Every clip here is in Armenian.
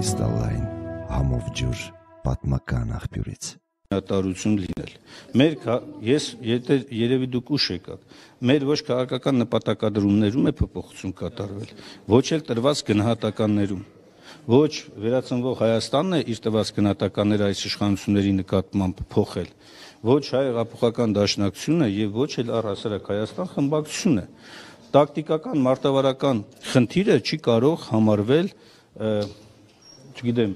կրիստալային համով ջուր պատմական աղբյուրից։ Տարություն լինել։ Ես երևի դուք ուշ եկաք։ Մեր ոչ քաղաքական նպատակադրումներում է փոփոխություն կատարվել, ոչ էլ տրված գնահատականներում։ Ոչ վերածնվող Հայաստանն է իր տված գնահատականները այս իշխանությունների նկատմամբ փոխել, ոչ հայ հեղափոխական դաշնակցությունը եւ ոչ էլ առհասարակ Հայաստան խմբակցությունը։ Տակտիկական մարտավարական խնդիրը չի կարող համարվել, չգիտեմ,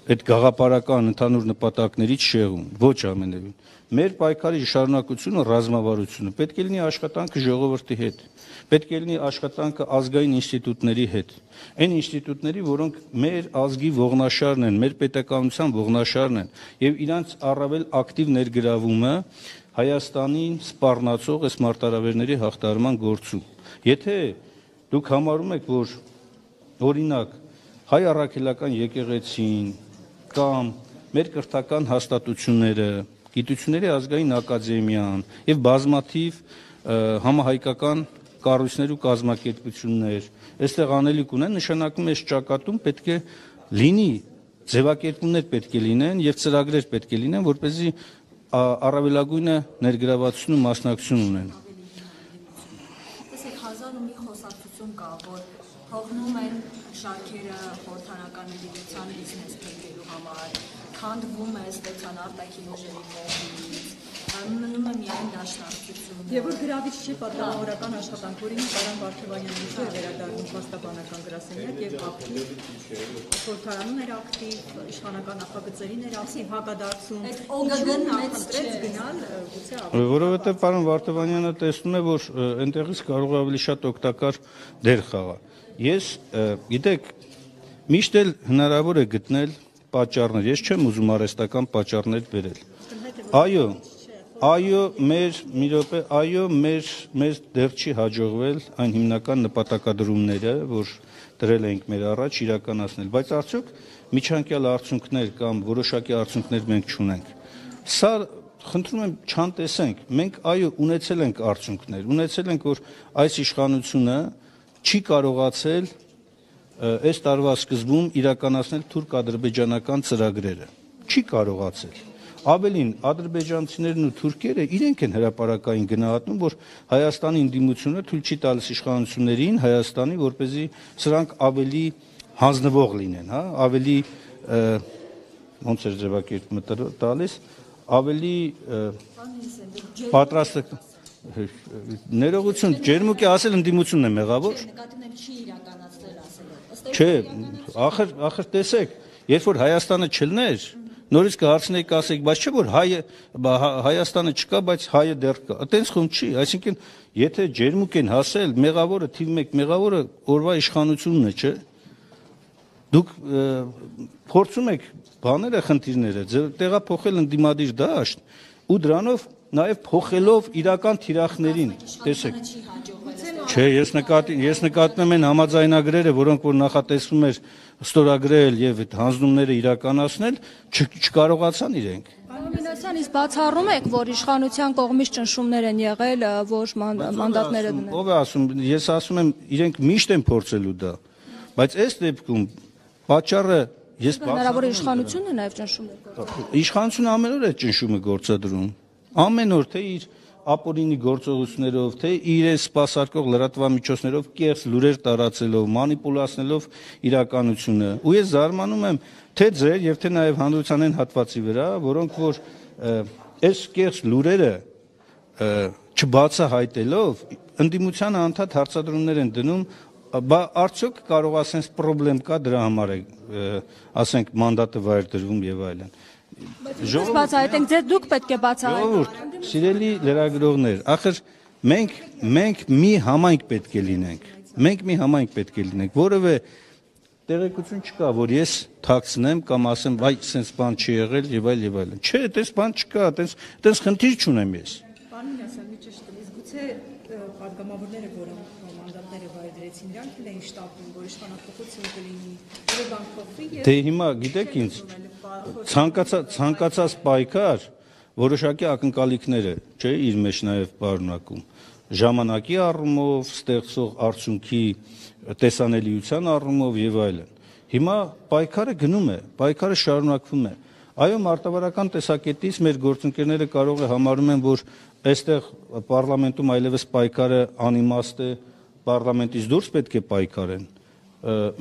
այդ գաղափարական ընդհանուր նպատակներից շեղում, ոչ ամենևին։ Մեր պայքարի շարունակությունը ռազմավարությունը պետք է լինի աշխատանքը ժողովրդի հետ, պետք է լինի աշխատանքը ազգային ինստիտուտների հետ, այն ինստիտուտների, որոնք մեր ազգի ողնաշարն են, մեր պետականության ողնաշարն են, եւ իրանց առավել ակտիվ ներգրավումը Հայաստանին սպառնացող այս մարտահրավերների հաղթահարման գործում։ Եթե դուք համարում եք, որ օրինակ հայ առաքելական եկեղեցին կամ մեր կրթական հաստատությունները, գիտությունների ազգային ակադեմիան եւ բազմաթիվ համահայկական կառույցներ ու կազմակերպություններ այստեղ անելիք ունեն, նշանակում է այս ճակատում պետք է լինի ձևակերպումներ պետք է լինեն եւ ծրագրեր պետք է լինեն, որպեսզի առավելագույնը ներգրավվածություն ու մասնակցություն ունեն։ Տեսեք, հազար ու մի խոսակցություն կա, որ հողնում են շարքերը խորհրդանական գիտության բիզնես փոխելու համար, քանդվում է ստեցան արտաքին ուժերի կողմից, մնում է միայն դաշնակցություն։ Եվ որ գրավիչ չի պատգամավորական աշխատանք, որին Կարեն Վարդևանյանը ինչու է վերադառնում փաստաբանական գրասենյակ եւ ակտիվ խորհրդարանում էր ակտիվ, իշխանական նախագծերին էր ակտիվ, հակադարձում։ Այդ ՕԳԳ-ն նախընտրեց գնալ գուցե ավելի։ Որովհետեւ պարոն Վարդևանյանը տեսնում է, որ այնտեղից կարող է ավելի շատ օգտակար դեր խաղալ։ Ես, գիտեք, միշտ էլ հնարավոր է գտնել պատճառներ։ Ես չեմ ուզում արհեստական պատճառներ բերել։ Այո, մեր դեռ չի հաջողվել այն հիմնական նպատակադրումները, որ դրել ենք մեր առաջ իրականացնել, բայց արդյոք միջանկյալ արդյունքներ կամ որոշակի արդյունքներ մենք չունենք։ Սա խնդրում եմ չանտեսենք, մենք այո ունեցել ենք արդյունքներ, ունեցել ենք, որ այս իշխանությունը չի կարողացել այս տարվա սկզբում իրականացնել թուրք-ադրբեջանական ծրագրերը, չի կարողացել։ Ավելին, ադրբեջանցիներն ու թուրքերը իրենք են հրապարակային գնահատում, որ Հայաստանի ընդդիմությունը թույլ չի տալիս իշխանություններին Հայաստանի, որպեսզի սրանք ավելի հանձնվող լինեն, հա, ավելի ոնց էր ձևակերպումը տալիս, ավելի պատրաստ ներողություն, ջերմուկի ասել ընդդիմությունն է մեղավոր։ Չէ, ախր տեսեք, երբ որ Հայաստանը չլներ, նորից կհարցնեիք ասեք, բայց չէ որ Հայաստանը չկա, բայց հայը դեռ կա։ Այդպես խոմ չի, այսինքն եթե ջերմուկ են հասել, մեղավորը թիվ 1 մեղավորը օրվա իշխանությունն է, չէ։ Դուք փորձում եք բաները, խնդիրները տեղափոխել ընդդիմադիր դաշտ ու դրանով նաև փոխելով իրական թիրախներին, տեսեք։ Չէ, ես նկատում եմ համաձայնագրերը, որոնք որ նախատեսվում էր ստորագրել եւ այդ հանձնումները իրականացնել, չկարողացան իրենք։ Պարոն Մինասյան, իսկ բացառում եք, որ իշխանության կողմից ճնշումներ են եղել, որ մանդատները դնել։ Ով է ասում, ես ասում եմ, իրենք միշտ են փորձելու դա, բայց այս դեպքում պատճառը ես հնարավոր է իշխանությունն է նաև ճնշումներ գործադրում։ Իշխանությունը ամեն օր է ճնշումը գործադրում։ Ամեն օր թե իր ապօրինի գործողություններով, թե իրենց սպասարկող լրատվամիջոցներով կեղծ լուրեր տարածելով, մանիպուլացնելով իրականությունը։ Ու ես զարմանում եմ թե ձեր եւ թե նաեւ հանրության այն հատվածի վրա, որոնք որ այս կեղծ լուրերը չբացահայտելով ընդդիմությանը անդադ հարցադրումներ են դնում, բա արդյոք կարող ասենք խնդրեմ կա դրա համար է, ասենք մանդատը վայր դրվում եւ այլն։ Բայց բացահայտենք, ձեր դուք պետք է բացահայտեք։ Սիրելի լրագրողներ, ախր մենք մի համայնք պետք է լինենք։ Մենք մի համայնք պետք է լինենք, որովե տեղեկություն չկա, որ ես թաքցնեմ կամ ասեմ, այ sense բան չի եղել եւ այլն։ Չէ, այդպես բան չկա, այդպես խնդիր չունեմ ես։ Պարոն Մինասյան, մի ճիշտ իսկ գուցե պատգամավորները, որոնք մանդատները վայր դրեցին, իրանք էլ էին շտապում, որ իշխանապողություն կլինի, որ բան փոխվի եւ դե հիմա գիտեք ինձ ցանկացած պայքար որոշակի ակնկալիքներ է, չէ, իր մեջ նաև պարունակում։ Ժամանակի առումով, ստեղծող արդյունքի տեսանելիության առումով եւ այլն։ Հիմա պայքարը գնում է, պայքարը շարունակվում է։ Այո, մարտավարական տեսակետից մեր գործընկերները կարող է համարում են, որ այստեղ պարլամենտում այլևս պայքարը անիմաստ է, պարլամենտից դուրս պետք է պայքարեն։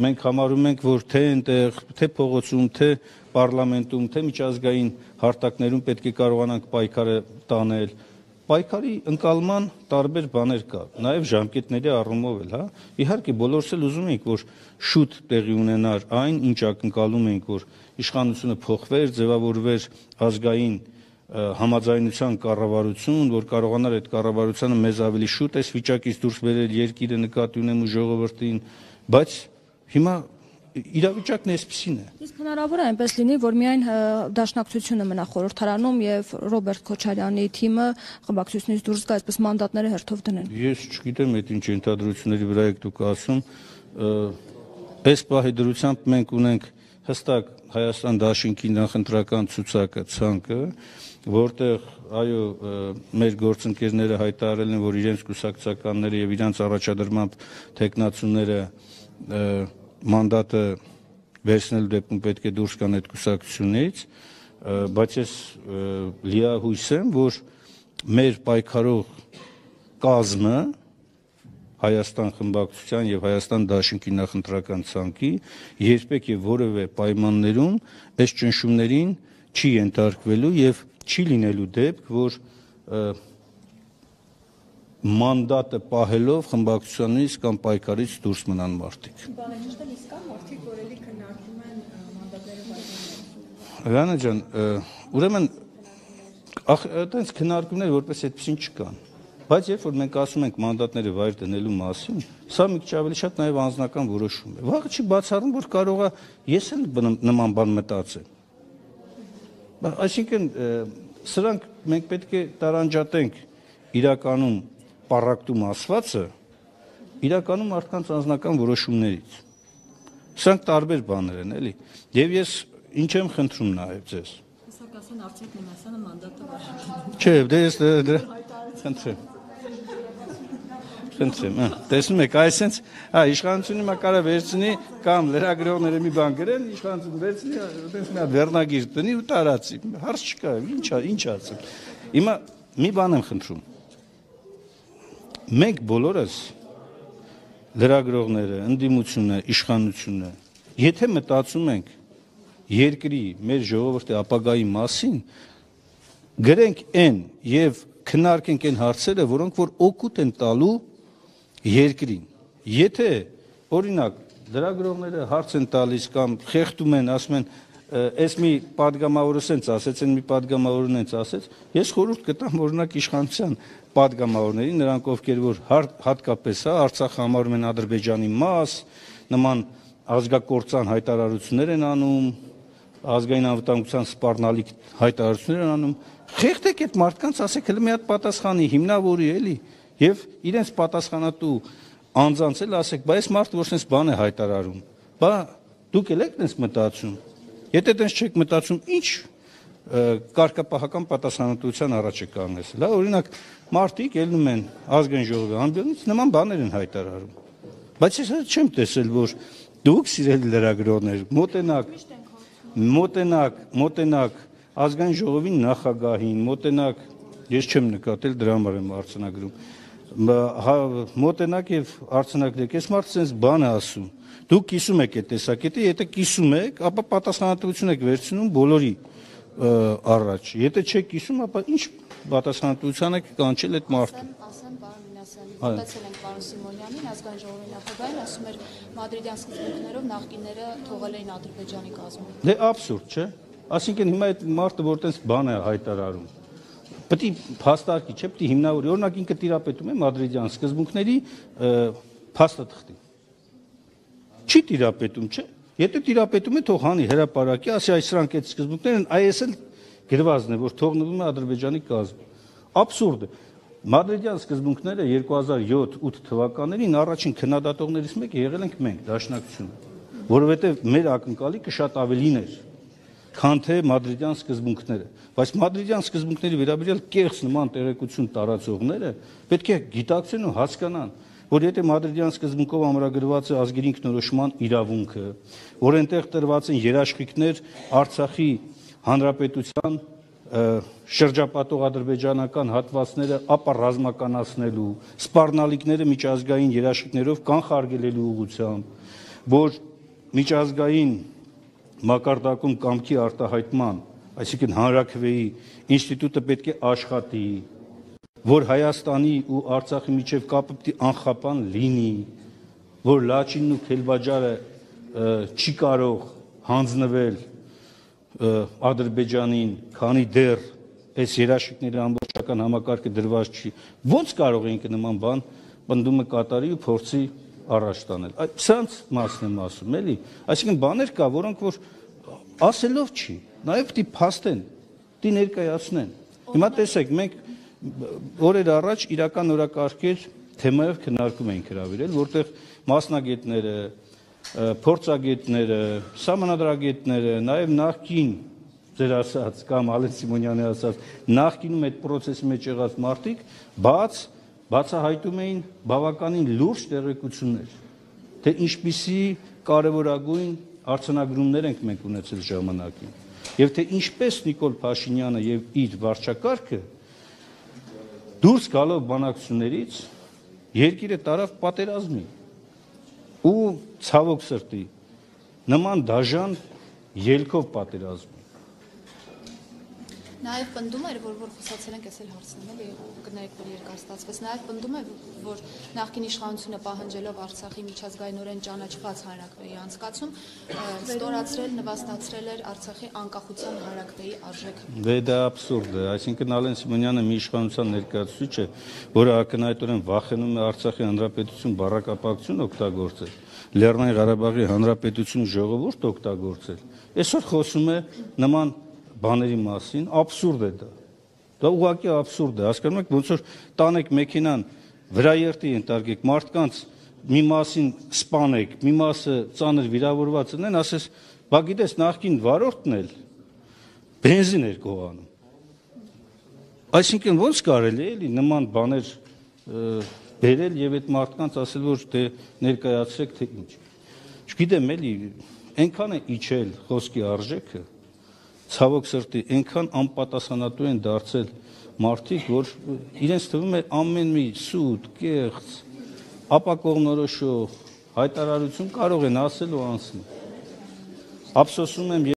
Մենք համարում ենք, որ թե այնտեղ, թե փողոցում, թե պարլամենտում, թե միջազգային հարթակներում պետք է կարողանանք պայքարը տանել։ Պայքարի ընկալման տարբեր բաներ կա, նաև ժամկետների առումով էլ, հա։ Իհարկե, բոլորս էլ ուզում ենք, որ շուտ տեղի ունենար այն, ինչ ակնկալում ենք, որ իշխանությունը փոխվեր, ձևավորվեր ազգային համաձայնության կառավարություն, որ կարողանար այդ կառավարությանը մեզ ավելի շուտ այս վիճակից դուրս բերել, երկիրը նկատի ունեմ ու ժողովրդին, բայց հիմա իրավիճակն էսպիսին է։ Իսկ հնարավոր է այնպես լինի, որ միայն դաշնակցությունը մնա խորհրդարանում եւ Ռոբերտ Քոչարյանի թիմը խմբակցությունից դուրս գա, այսպես մանդատները հերթով դնեն։ Ես չգիտեմ, այդ ինչ ենթադրությունների վրա եք դուք ասում։ Այս պահի դրությամբ մենք ունենք հստակ Հայաստան դաշինքի նախընտրական ցուցակը, ցանկը, որտեղ այո, մեր գործընկերները հայտարարել են, որ իրենց կուսակցականները եւ իրենց առաջադրմամբ տեխնացուները մանդատը վերցնելու դեպքում պետք է դուրս գան այդ կուսակցությունից, բայց ես լիահույս եմ, որ մեր պայքարող կազմը Հայաստան խմբակցության եւ Հայաստան դաշինքի նախընտրական ցանկի երբեք եւ որևէ պայմաններում այս ճնշումներին չի ենթարկվելու եւ չի լինելու դեպք, որ մանդատը պահելով խմբակցությունից կամ պայքարից դուրս մնան մարդիկ։ Բանը ճիշտ է, իսկ կան մարդիկ, որ էլի քննարկում են մանդատները վայրել։ Ռանա ջան, ուրեմն այդպես քննարկումներ որպես այդպեսին չկան։ Բայց երբ որ մենք ասում ենք մանդատները վայր դնելու մասին, սա մի քիչ ավելի շատ նաև անձնական որոշում է։ Վաղը չի բացառում, որ կարող է ես էլ նման բան մտածեմ։ Այսինքն սրանք մենք պետք է տարանջատենք իրականում պարակտում ասվածը իրականում մարդկանց անձնական որոշումներից։ Սրանք տարբեր բաներ են, էլի։ Եվ ես ինչ եմ խնդրում նաև ձեզ։ Հեսակ ասեն Արծիք Մինասյանը մանդատը վարժի։ Չէ, դե ես խնդրեմ։ Խնդրեմ, տեսնում եք, այսենց, իշխանությունը հիմա կարա վերցնի կամ լրագրողները մի բան գրեն, իշխանությունը վերցնի, այդպես մի հատ վերնագիր տնի ու տարածի։ Հարց չկա, ինչ ասեմ։ Հիմա մի բան եմ խնդրում։ Մենք բոլորս լրագրողները, ընդդիմությունը, իշխանությունը, եթե մտածում ենք երկրի, մեր ժողովրդի ապագայի մասին, գրենք այն եւ քննարկենք այն հարցերը, որոնք որ օգուտ են տալու երկրին։ Եթե օրինակ լրագրողները հարց են տալիս կամ խեղդում են, ասում են, այս մի падգամավորը սենց ասեց, այն մի падգամավորն էնց ասեց, ես խորհուրդ կտամ օրինակ իշխանության падգամավորներին, նրանք ովքեր որ հատկապես Արցախը համարում են Ադրբեջանի մաս, նման ազգակործան հայտարարություններ են անում, ազգային անվտանգության սպառնալիք հայտարարություններ են անում, խեղդեք այդ մարդկանց, ասեք հələ մի հատ պատասխանի, հիմնավորի էլի, եւ իրենց պատասխանատու անձանց էլ ասեք, բա այս մարդը որ sense բան է հայտարարում, բա դուք եք sense մտածում, եթե sense չեք մտածում, ինչ կարգապահական պատասխանատվության առաջ է կանգնեցել, հա, օրինակ մարդիկ ելնում են ազգային ժողովի ամբիոնից նման բաներ են հայտարարում, բայց ես չեմ տեսել, որ դուք սիրելի լրագրողներ մոտենակ ազգային ժողովին նախագահին, մոտենակ, ես չեմ նկատել, դրա համար եմ արձանագրում, մոտենակ եւ արձանագրեք, այս մարդը sense բան է ասում, դուք կիսում եք այդ տեսակետը, եթե կիսում եք, ապա պատասխանատվություն եք վերցնում բոլորի առաջ, եթե չեք կիսում, ապա ինչ պատասխանատվության եք կանչել այդ մարդուն։ Ասեմ պարոն Մինասյան, մտածել ենք պարոն Սիմոնյանին, ազգային ժողովի նախագահին, ասում էր մադրիդյան սկզբունքներով նախկինները թողել էին Ադրբեջանի կազմում։ Դե աբսուրդ, չէ՞։ Այսինքն հիմա այդ մարդը որ տես բան է հայտարարում, պետք է փաստարկի, չէ՞, պետք է հիմնավորի, օրինակ ինքը տիրապետում է մադրիդյան սկզբունքների փաստաթղթին։ Չի տիրապետում, չէ՞։ Եթե տիրապետում է, թող հանի հրապարակի, ասի այս սրանք այդ սկզբունքներն են, այս էլ գրվածն է, որ թողնվում է Ադրբեջանի կազմում։ Աբսուրդ է։ Մադրիդյան սկզբունքները 2007-8 թվականներին առաջին քննադատողներից մեկը եղել ենք մենք, Դաշնակցությունը, որովհետև մեր ակնկալիքը շատ ավելին էր, քան թե մադրիդյան սկզբունքները, բայց մադրիդյան սկզբունքների վերաբերյալ կեղծ նման տեղեկություն տարածողները պետք է գիտակցեն ու հասկանան, որ եթե Մադրիդյան սկզբունքով ամրագրված է ազգերի ինքնորոշման իրավունքը, որ այնտեղ տրված են երաշխիքներ Արցախի հանրապետության շրջապատող ադրբեջանական հատվածները ապառազմականացնելու, սպառնալիքները միջազգային երաշխիքներով կանխարգելելու ուղղությամբ, որ միջազգային մակարդակում կամքի արտահայտման, այսինքն հանրաքվեի ինստիտուտը պետք է աշխատի, որ Հայաստանի ու Արցախի միջև կապը պետք է անխափան լինի, որ Լաչինն ու Քելբաջարը չի կարող հանձնվել Ադրբեջանին, քանի դեռ այս երաշխիքների ամբողջական համակարգը դրված չի, ո՞նց կարող ենք նման բան պնդումը կատարի ու փորձի առաջ տանել։ Սրանց մասն եմ ասում, էլի, այսինքն բաներ կա, որոնք որ ասելով չի, նաև պետք է փաստեն, պետք է ներկայացնեն։ Հիմա տեսեք, մենք օրեր առաջ իրական օրակարգեր թեմայով քննարկում ենք հրավիրել, որտեղ մասնագետները, փորձագետները, սահմանադրագետները, նաև նախկին ձեր ասած կամ Ալեն Սիմոնյանի ասած նախկինում այդ process-ի մեջ եղած մարդիկ բացահայտում էին բավականին լուրջ տեղեկություններ, թե ինչպիսի կարևորագույն արձանագրումներ ենք մենք ունեցել ժամանակին, եւ թե ինչպես Նիկոլ Փաշինյանը եւ իր վարչակարգը դուրս գալով բանակցություններից երկիրը տարավ պատերազմի ու ցավոք սրտի նման դաժան ելքով պատերազմի։ Նաև պնդում էր, որ խոսացել ենք, ես էլ հարցնում եմ, կներեք, որ երկար ստացվեց, նաև պնդում է, որ նախկին իշխանությունը պահանջելով Արցախի միջազգայինորեն ճանաչված հանրաքվեի անցկացում, ստորացրել, նվաստացրել էր Արցախի անկախության հանրաքվեի արժեքը։ Դա աբսուրդ է, այսինքն Ալեն Սիմոնյանը մի իշխանության ներկայացուցիչ է, որը ակնհայտորեն վախենում է Արցախի հանրապետություն բառակապակցություն օգտագործել, Լեռնային Ղարաբաղի հանրապետություն ժողովուրդ օգտագործել։ Այսօր խոսում է նման բաների մասին, աբսուրդ է դա։ Դա ուղղակի աբսուրդ է, հասկանում եք, ոնց որ տանեք մեքենան վրաերթի ընտարգեք, մարդկանց մի մասին սպանեք, մի մասը ծանր վիրավորված ունեն, ասես, բա գիտես, նախկին վարորդն էլ բենզին էր գողանում։ Այսինքն ոնց կարելի է էլի նման բաներ բերել եւ այդ մարդկանց ասել, որ դե ներկայացրեք թե ինչ։ Չգիտեմ էլի, այնքան է իջել խոսքի արժեքը, ցավոք սրտի, այնքան անպատասխանատու են դարձել մարդիկ, որ իրենց թվում է ամեն մի սուտ, կեղծ, ապակողմնորոշող հայտարարություն կարող են ասել ու անցնել։ Ափսոսում եմ